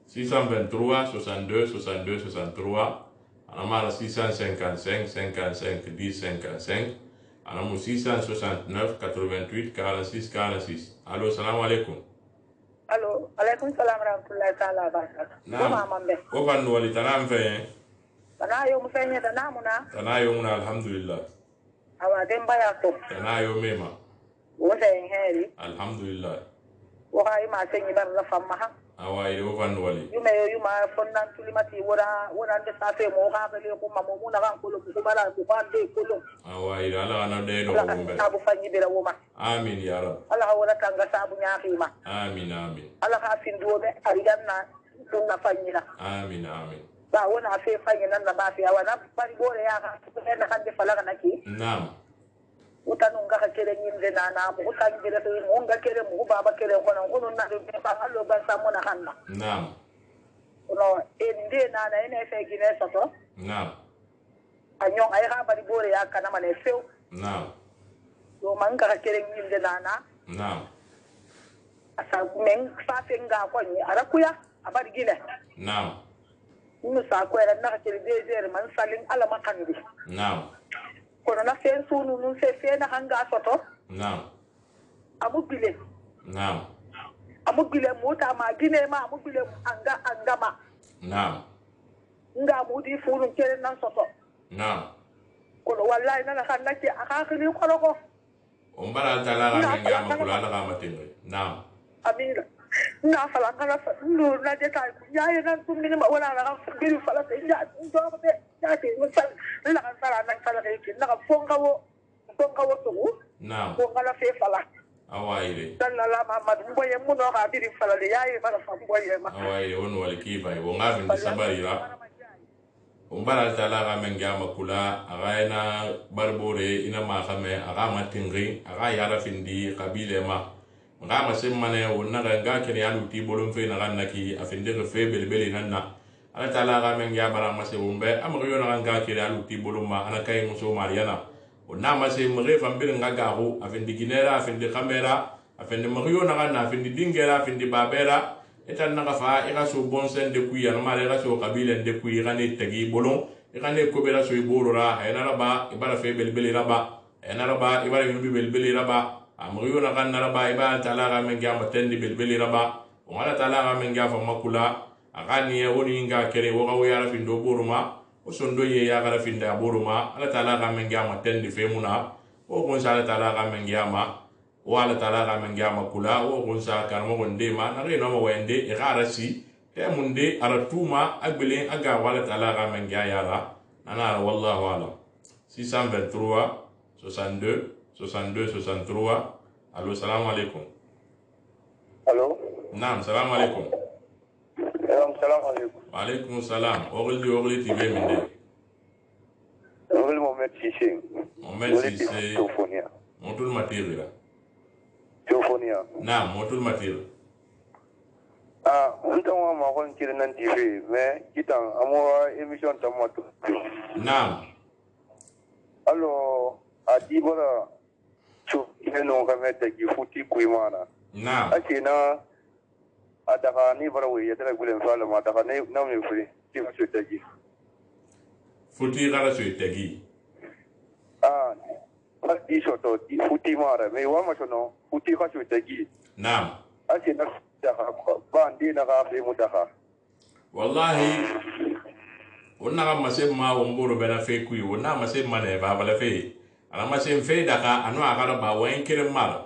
six cent vingt-trois soixante-deux soixante-deux soixante-trois. Anamala six cent cinquante-cinq cinquante-cinq dix cinquante-cinq. Anamu six cent soixante-neuf quatre-vingt-huit quarante-six quarante-six. Allô, salam alaikum. Allô, alaikum salam rahmatullahi ta'ala wa barakatuh. Naam. Ko fan wali tanam fe. Tana yo mu fenye tana muna. Tana yo muna alhamdulillah. Awa demba ya to. Tana yo mema. Wo sen heri. Alhamdulillah. Wo hay ma senyi bar la famma ha. Awa ide wo fan wali. Yume yo yuma fonnan tulimati wora wora de safe mo ha bele ko mamu muna kan ko ko bala ko bande ko lo. Awa ide ala ana de do Ala gombe. sabu fanyi bela wo ma. Amin ya rab. Ala wora tanga sabu nyaaki ma. Amin amin. Ala ka finduwo be ariganna dunna fanyi na. Amin amin. Ba wona fe fanyi nan na ba fi awana bari bore ya ka ko na kan de falaga naki. Naam. Utanu nga kere nyinde na na mu utangi bele to mu nga kere mu baba kere ko na ko na do be ba allo ba sa mo na hanna. Naam. No ende na na ene fe gine soto. Naam. Anyo ay ha bari bore ya kana mane few. Naam. Do man nga kere nyinde na na. Naam. Asa men fa fe nga ko ni ara kuya abari gine. Naam. Mu sa ko era na kere dezer man salin ala makandi. Naam. Kono na fe sunu nun se fe na hanga soto. Naam. Amu bile. Naam. Amu bile mota ma gine ma amu bile anga anga ma. Naam. Nga mu di funu kere nan soto. Naam. Kono wallahi na kan nake akakili ko ko. Umbara tala ga menga makula na ga matinga. Naam. Amina. Na fala kana ndu na de kai yaye nan tum ni ma wala na biru fala te ya ndo be ya te musal la kan sala nan sala ke ki na fonga wo fonga wo to. Naam. Fonga la fe fala. Awaire. Dan la Muhammad mboye mu no ga biru fala de yaye fala fa mboye ma. Awaire on wal kifa wo ngabin di sabarira. Umbara tala ga menga makula aga ina barbore ina ma khame aga matingri aga yara findi qabile ma. Nga masimmane wonna ga kene ya luti bolon fe na ganaki afinde ko fe belbeli nanna ala taala ga men ya bara mase wumbe amriyo na ga kene ya luti bolon ma ana kay muso mariana wonna mase mre fambir nga garu afinde ginera afinde kamera afinde mariyo na ganna afinde dingera afinde babera etan na fa ira so bonsen de kuya no mare ra so kabile de kuya gane tagi bolon igane ko bela so iborora ena raba ibara fe belbeli raba ena raba ibara yubi belbeli raba amriyo na kan naraba iba taala ga men ga matendi belbeli raba wala taala ga men ga fa makula agani ya woni nga kere wo gawo ya rafin do boruma o sondo ye ya ga rafin da boruma ala taala ga men ga matendi femuna o gon sala taala ga men ga ma wala taala ga men ga makula o gon sa kan mo gonde ma na reno mo wende e garasi te munde aratuma agbele aga wala taala ga men ga ya la nana wallahu alam. six cent vingt-trois soixante-deux soixante-deux soixante-trois. Allô, salam alaikum. Allô. Naam, salam alaikum. Salam alaikum. Wa alaikum salam. Ogli ogli T V minde. Ogli Mohamed Cissé. Mohamed Cissé. Teofonia. Motul matir la. Teofonia. Naam, motul matir. ah unta wa ma kon kirin nan T V mais kitan amo émission tamato naam allo a dibora cho ino ka meta gi futi kuimana naam akina adaka ni bara we yadara gulen fala ma daga ne na me furi ti so tagi futi gara so tagi ah di so to di futi mara me wa ma sono futi ka so tagi naam akina daga ba ndi na ga be mutaka wallahi wonna ga masem ma womboro bena fe kuyi wonna masem ma ne ba bala fe ana masem fe daga anu aga ba wen kirim mara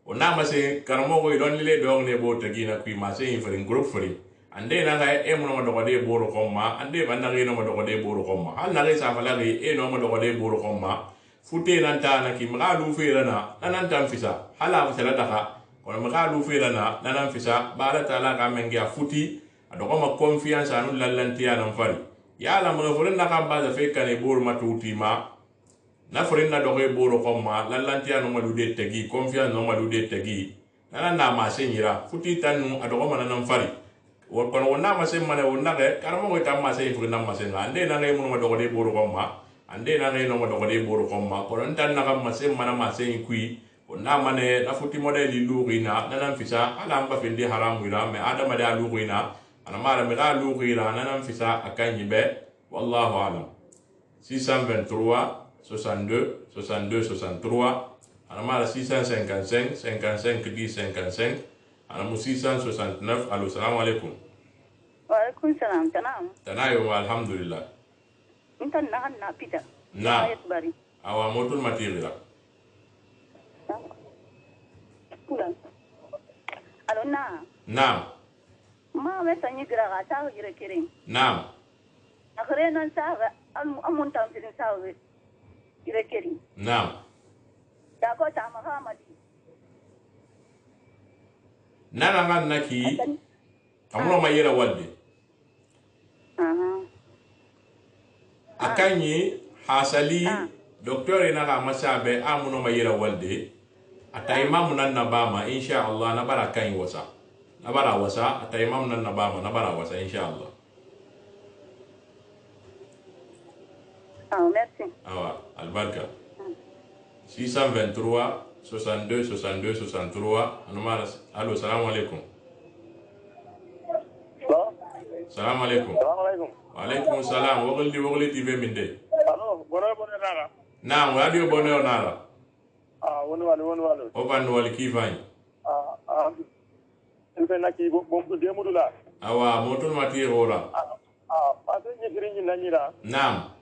wonna masem karamo go don le dong ne bo tagi na kuyi masem frin group frin ande na ga e mo no do de boro komma ande ban na no do de boro komma hal na sa fala ge e no mo do de boro komma fute nan ta na ki ma lu fe rana nan tan fisa hala fa daga kono ma lu fe rana nan fisa bala taala ga mengi futi adoko ma confiance anu lallantiya nan fari ya la ma furin na kan ba da fe kan e bor matuti ma na furin na dogo e boro komma lallantiya no malude tagi confiance no malude tagi nan na ma senyira futi tanu adoko ma nan fari won kono wonna ma sen mane wonna ge karamo ko tam ma sen furin na ma sen ande na ngai mo ma dogo de boro komma ande na ngai no ma dogo de boro komma kono tan na kan ma sen mana ma sen kui wonna mane na futi modeli lugina nan fisa ala am ba fendi haramu ira me adama da lugina ana mara mi ga lu gira nanam fisa akan yibe wallahu alam six cent vingt-trois soixante-deux soixante-deux soixante-trois ana mara six cent cinquante-cinq cinquante-cinq dix cinquante-cinq ana mu six cent soixante-neuf allo salam alaikum wa alaikum salam tanam tanayo alhamdulillah intan na na pita na ayat bari awa motul matira pulang allo na na ma we tanyi gira ga ta gira kirin naam akhre nan sa ga amun tam tin sa we gira kirin naam da ko ta mahamadi nana ngan naki amuno mayira walde aha akanyi hasali docteur ina ga masabe amuno mayira walde ata imamu nan nabama insha Allah na barakan wasa nabara wasa ata imam nan nabama nabara wasa inshallah. Ah merci. Awa albarka. six cent vingt-trois soixante-deux soixante-deux soixante-trois anumara allo salam alaikum. Salam alaikum. Salam alaikum. Wa alaikum salam wogoldi wogoldi T V minde. Allo bono bono nara. Naam radio bono nara. Ah wonu wali wonu wali. O ban wali kifani. Ah ah Ilfe naki bo bo demudula. Awa motul mati hora. Ah pase ni girinji nanyira. Naam.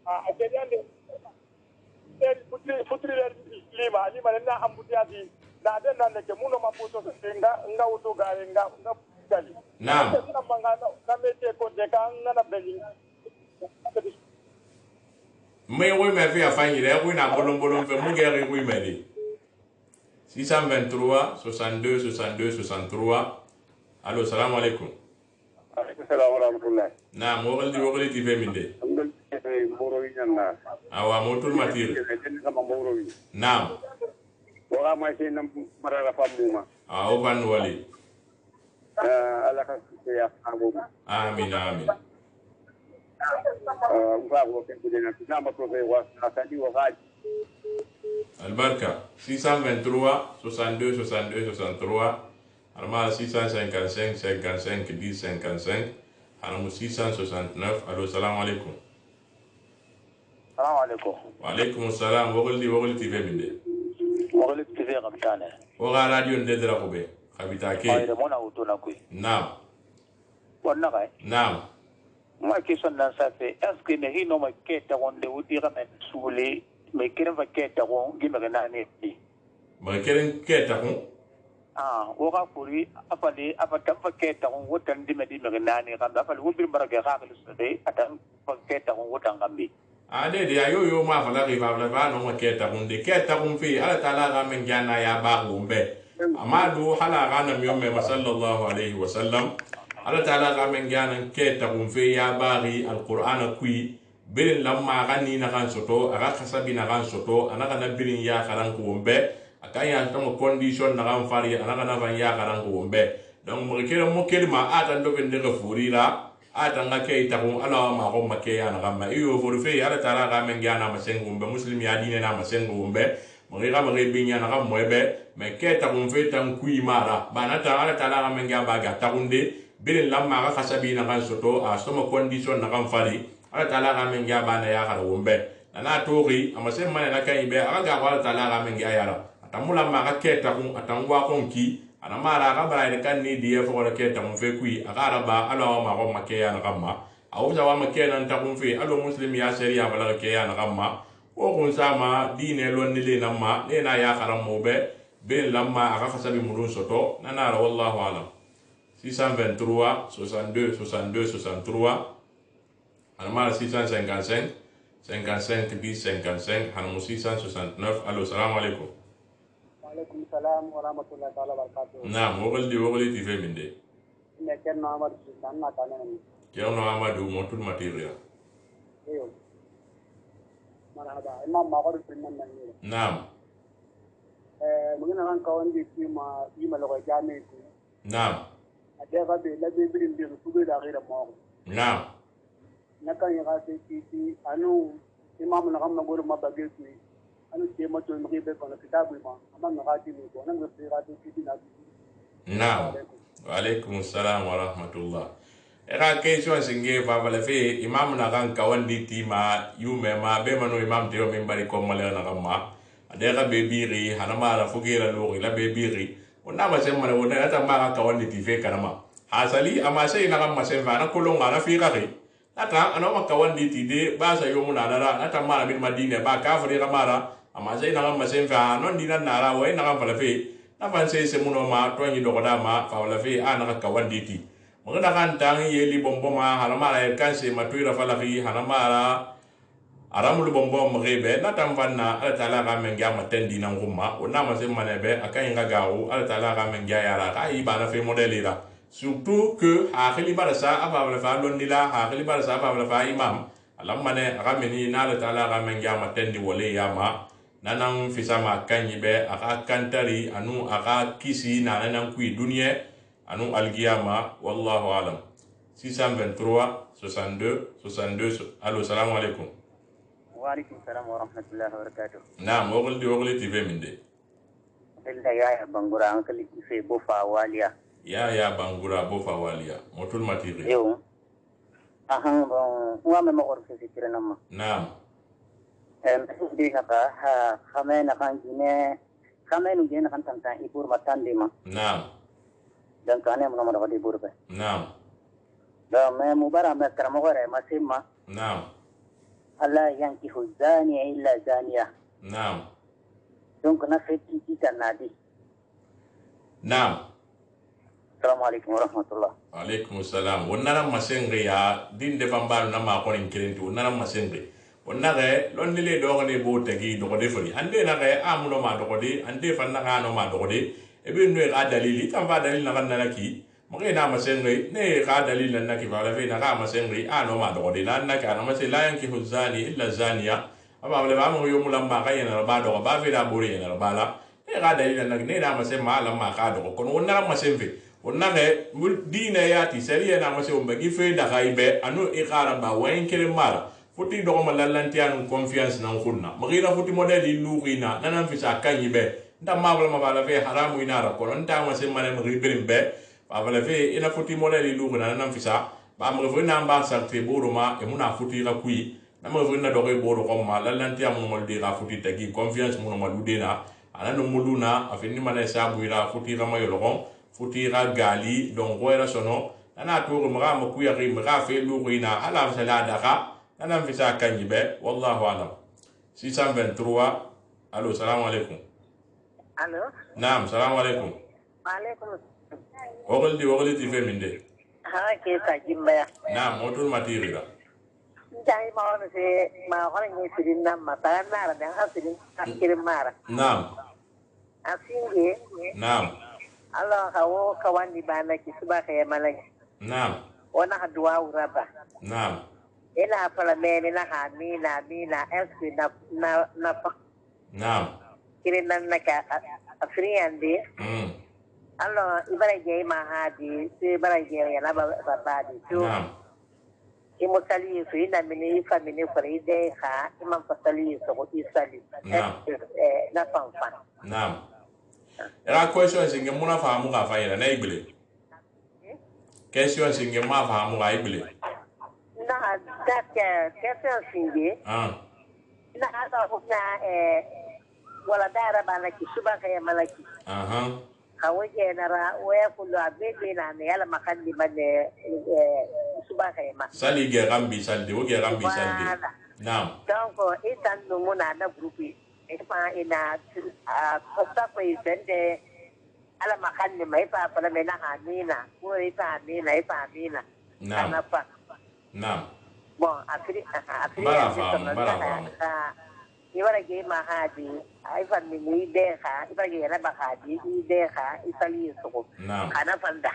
Ah akediande. Eri putri putri lima lima na ambutiati. Na den nan ke muno maputo nga nga uto gare nga nga gali. Naam. Na mangana na mete ko de kan na beli. Me wo me fi afanyi re wo na bolon bolon fe mu gere wo me de. six cent vingt-trois soixante-deux soixante-deux soixante-trois allo salam alaikum. Alaikum salam wa rahmatullah. Naam wogoldi wogoldi T V minde. Mboro wi nyanga. Awa motul mati. Sama mboro wi. Naam. Wala ma sai nan marara famuma. Ah o ban wali. Eh ala ka ya abu. Amin amin. Eh mfa ko ke kudena na ma to wa asadi wa gaji. Albarka six cent vingt-trois soixante-deux soixante-deux soixante-trois Arma six cent cinquante-cinq cinquante-cinq dix cinquante-cinq Arma six cent soixante-neuf allo salam alaikum. Salam alaikum. Wa alaikum salam wogoldi wogoldi T V minde. Wogoldi T V kamtane. Woga radio ndedra ko be khabita ke. Ay mona uto na kuy. Naam. Wonna kay. Naam. Ma question nan sa fe est-ce que ne hino ma keta wonde wudi ramen sule me kiran fa keta ko gime na ne di. Ma kiran keta ko ah woga furi afali afata fa keta ko wotan di me di me na ne kan afali wubir baraka ka ka de atan fa keta ko wotan gambi. Ade de ayo yo ma fala ri fa fa no ma keta ko de keta ko fi ala taala ga men jana ya ba gombe. Amadu hala ga na mi umme sallallahu alaihi wasallam ala taala ga men jana keta ko fi ya bari alquran kui birin lamma gani na kan soto aga kasabi na kan soto anaka na birin ya karan ko wombe akaya tamo condition na kan fari anaka na van ya karan ko wombe donc mo kere mo kelma atan do bende ga furira atan ga kay taxu ala ma ko make ya na gamma iyo fo fe ala taala ga men gana masengu be muslim ya dine na masengu be mo ga ma be nya na gammo be me ke taxu fe tan kui mara bana ta ala taala ga men ga ba ga taxunde birin lamma ga khasabi na kan soto a soma condition na kan fari ala taala ga men ga ba na ya khara wumbe na tori amase mane na kan ibe aga ga ala taala ga men ga yara atamula ma ga ke taxu atangwa konki ana mara ka bara ne kan ni die fo ke ta mun fe kui aga raba ala ma ko make ya na gamma awu za wa make nan ta kun fe alo muslim ya sharia bala ke ya na gamma o kun sama dine lon ni le namma ne na ya karam mo be ben lamma aga khasabi murun soto nana ra wallahu alam six cent vingt-trois soixante-deux soixante-deux soixante-trois ana mara six cent cinquante-cinq cinquante-cinq dix cinquante-cinq hanu six cent soixante-neuf allo salam alaikum Waalaikum salam warahmatullahi taala wabarakatuh. Naam, wogol di wogol ti fe minde. Ne Cerno Amadou Sultan na kana ni. Cerno Amadou motul materia. Eyo. Marhaba, imam magor pinnan nan ni. Naam. Eh, mungkin kan kawan di ma yi ma logo jami ku. Naam. Ade ga be la be birin bi ku be da gira mo. Naam. Nakan ya ga ti ti anu imam na kan magor ma bage ku. Anu ke ma to mi be kono kitabu ma amma na gati ni ko nan be gati ti na. Naam. Wa alaikum assalam wa rahmatullah. Era question singe fa bala fe imam na kan kawan di tima yume ma be mano imam tiro min bari ko mala na gamma. Ade ga be biri hanama la fugira lo la be biri. Onna ma sem mala wona ta ma ka kawan di tife kanama. Hasali ama sai na gamma sem fa na kolonga na fi ga ri. Ata ana ma kawan di tide ba sa yo muna dara ata mara bin madina ba kafiri ga mara ama sai na gamma sem fa non dinan nara wa na gamma la fe na fan sai se muno ma to nyi do da ma fa la fe ana ka wandi ti mo da kan tang yeli bombo ma hala mara kan se ma tuira fa la fi hala mara aramul bombo mo rebe na tam fanna ala taala ga men ga matendi nan gumma o na ma se manebe akan ga gawo ala taala ga men ga yara ka yi bana fe modeli la surtout que ha khili barasa aba la fa lon dila ha khili barasa aba la fa imam ala mane ga meni na ala taala ga men ga matendi wole ya ma nanang fisama kanyibe aka kantari anu aka kisi na nanang kui dunia anu algiyama wallahu alam. Six cent vingt-trois soixante-deux soixante-deux allo salam alaikum. Wa alaikum salam wa rahmatullahi wa barakatuh. Naam wogol di wogol ti fe minde. Illa ya bangura an kali fe bo fa waliya. Ya ya bangura bo fa waliya motul matiri. Yo. Ahan bon wa me mo or fe fikira nama. Naam. Di naka ha kame nakan jine kame nu jine nakan tantang ibur matan di ma. Naam. Dan kane mo naman ako di ibur ba. Naam. Dan me mubara me karamo gore masimma. Naam. Allah yankihu zani illa zaniya. Naam. Donc na feti kita nadi. Naam. Assalamualaikum warahmatullah. Waalaikum salam. Wonnara masengre ya din de fambal na ma ko nin kirinti wonnara masengre. Wonnare lon le do ne bo tagi do ko defori ande na ga amuno ma do ko de ande fanna ga no ma do ko de e be no ga dalili tam fa dalil na kan na ki mo ke na masengre ne ga dalil na ki fa la fe na ga masengre a no ma do ko de na na ka na mase la yanki huzani illa zaniya aba le ba mo yo mulamba ga yana ba do ba fe da buri yana ba la e ga dalil na ne na mase ma la ma ka do ko wonnara masembe wonnare dine ya ti seriya na mase o mbagi fe da ga ibe anu e gara ba wen kere mara futi do ma lallanti anu confiance nan khunna magira futi modeli luqina nanan fisa kanyibe nda mabla mabala fe haramu inara ko nta ma se mane magi berimbe ba bala fe ina futi modeli luqina nanan fisa ba ma fe na ba sarte boroma e muna futi la kui na ma fe na do ko boro ko ma lallanti amu mo de ga futi tagi confiance mu no maludena anano muluna afini mane sabu ira futi ga mayolo ko futi ga gali don goira sono ana to ko ma ma kuya ri ma fe luqina ala fa la daga أنا في ساعة كنجبة والله أعلم. six cent vingt-trois ألو السلام عليكم. ألو. نعم السلام عليكم. وعليكم. وقلتي وقلتي في من ده. ها كيف تجيبها؟ نعم موتور ماتيري لا. جاي ما هو في ما هو اللي يصير نام ما نارا ده هصير كير مارا. نعم. أسينجي. نعم. الله هو كوان يبانا كسبا خير ملاك. نعم. وانا هدوا وربا. نعم. ina fala meni na ha mi na mi na eski na na na pa naam kire nan na ka afrian de mm Allah ibara je ma hadi sai ibara je ya na baba di to i musali su ina mini famini kore de ha imam fasali so ko isali eh na fanfa naam era question singe muna fahamu ka fayira na ibile question singe ma fahamu ka ibile na da ke question singe ah na ada na eh wala dara bana ki suba ka ya malaki aha kawaje na ra waya kullu abebe na ne yala makandi bane suba ka ma sali ge gambi salde o ge gambi salde naam donc itan no muna na grupi e pa ina a kosta ko isende ala makandi mai pa pala mena hamina ko ita hamina ita hamina naam pa naam bon afri afri bara fa bara fa iwara ge ma hadi ai fan ni de ha iwara ge na ba hadi i de ha isali so kana fanda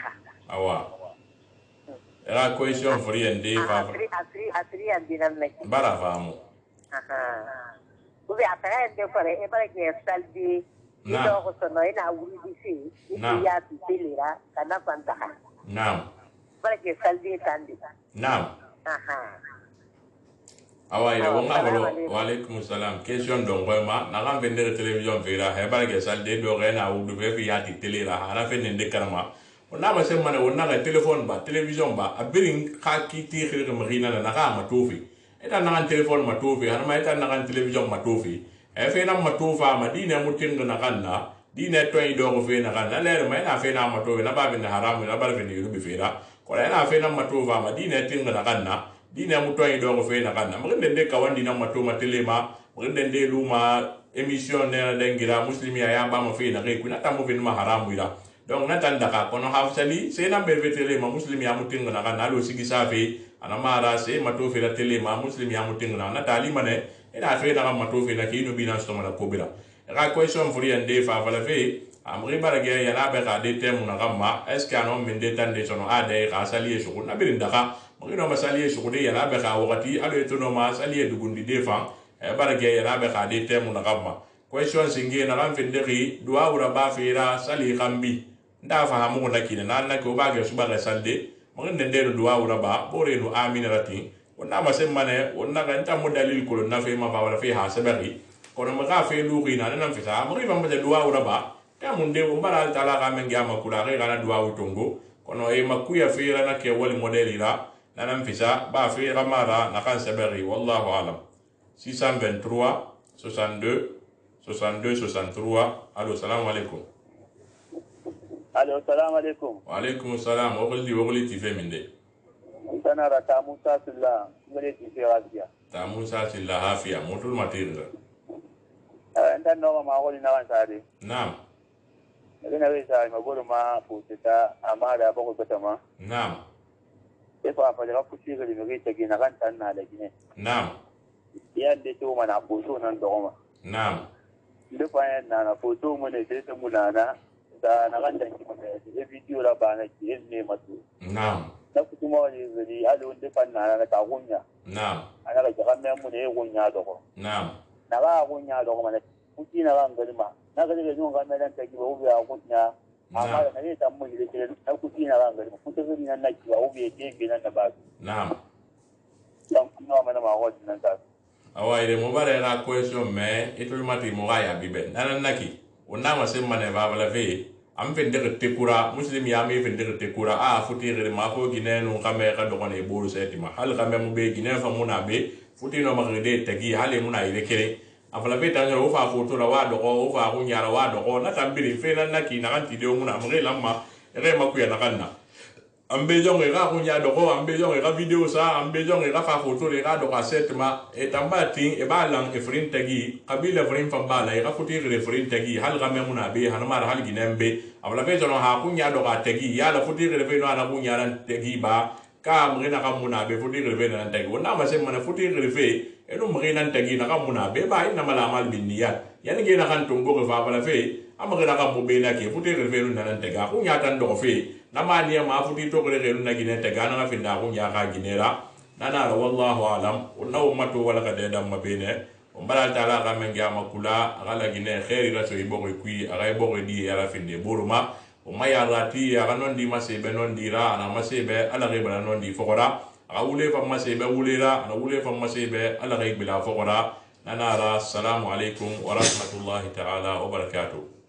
awa era question free and day fa afri afri afri andinan ne bara fa mu aha ubi atara ende fare iwara ge saldi ito ko sono ina wuri disi ya tilira kana fanda naam iwara ge saldi tandi naam aha awa ila wonga bolo wa alaikum salam question don ko ma na kan vender television vera he barke salde do rena u du fe yati tele la ana fe nende karama ona ma sem mane ona ga telephone ba television ba abirin ka ki ti khir ma rina na ka ma tofi eta na kan telephone ma tofi ana ma eta na kan television ma tofi e fe na ma tofa ma dine mutin na kan na dine to i do ko fe na kan na le ma na fe na ma tofi na ba bin haram na ba fe ni ru bi fera ko na fe na ma tofa ma dine tin na kan na dina muto yi dongo fe na kana mugende de kawandi na mato matelema mugende de luma emission na dengira muslimi ya ba mo fe na ke kuna ta mo fe ma haramu ira donc na tanda ka kono hafsali se na be telema muslimi ya mutinga na kana lo sigi safi ana mara se mato fe la telema muslimi ya mutinga na tali mane ina fe na mato fe na kinu bina sto mala kobira ra question furi ande fa vala fe amri barage ya na be ka de temu na kama est ce que anon minde tande sono ade ka sali e shukuna birinda ka mugino masali shukude yana be ka wakati alo etono ma sali dugundi defa e barage yana be ka de temu na kamma question singe na ran fenderi duwa ura ba fira sali kambi nda fa hamu na kina na na ko ba ge suba ga salde mugin den de duwa ura ba bore no amina rati wonna ma semmane wonna ga nta mo dalil ko na fe ma ba wala fe ha sabari ko no ma ka fe lu ri na na fisa mo ri ba ma duwa ura ba ta mun de mo bara taala ga men ga ma kula ga na duwa utongo kono e makuya fira na ke wali modeli la nanam fisa ba fi ramara na kan sabari wallahu alam six cent vingt-trois soixante-deux soixante-deux soixante-trois allo salam alaikum allo salam alaikum wa alaikum salam wa qulti wa qulti fi min de sana rata musa silla ngale ti fi radia ta musa silla hafiya mutul matir eh ndan no ma ko ni na sare naam ina we sai ma goro ma putita amara ba ko betama naam efa fa daga fushi ga ni ta gina kan tan na da gine naam ya de to mana foto nan da goma naam da fa yan na na foto mu ne sai ta mulana da na kan da ki da video la ba na ki ne matu naam da kuma wani zuri alo da fa na na ta gunya naam ana ga kan mu ne gunya da ko naam na ba gunya da goma na kuki na ran garma na ga da nun ga nan ta ki ba ubi a gunya amma da ne ta mu da ke da kuki na ran garma kuka zuri nan na ki ba ubi ke ke nan da ba naam dan kuma mana ma wajin nan ta awa ire mo bare ra question me itul mati mo ga ya bibe nan naki onna ma sem mane ba bala fe am fe ndere tekura muslim ya me fe ndere tekura a futi gere ma fo gine no kame ka do ne bolu seti ma hal kame mo be gine fa muna be futi no ma gede tagi hale muna ire kere afala be tan ro fa foto la wa do ko fa ku nyara wa do ko na tambiri fe nan naki na kan ti de muna mo re lamma re ma ku ya na kanna ambe jonge ga kunya doko ambe jonge ga video sa ambe jonge ga fa foto le ga do ka setma e tamba tin e balang e frin tagi kabila frin fa bala e ga futi re frin tagi hal ga me muna be han mar hal ginembe abla be jono ha kunya do ka tagi ya la futi re be no ana kunya ran tagi ba ka mrena ka muna be futi re be nan tagi wona ma sem mana futi re fe e no mrena tagi na ka muna be ba ina mala mal bin niyat yani ge na kan tongo fa bala fe amagena ka mo be na ke futi re be no nan tega kunya tan do fe namani ya mafuti to gele gele na gine te gana nga finda ko nya ka ginera nana wallahu alam unna ummatu wala ka de dam mabene umbala taala ka men ga makula ala gine khairi raso ibo ko kui aga ibo ko di ala finde buruma o mayarati aga non di masebe non dira ana masebe ala rebala non di fogora aga wule fa masebe wulera ana wule fa masebe ala rebala fogora nanara assalamu alaikum wa rahmatullahi ta'ala wa barakatuh.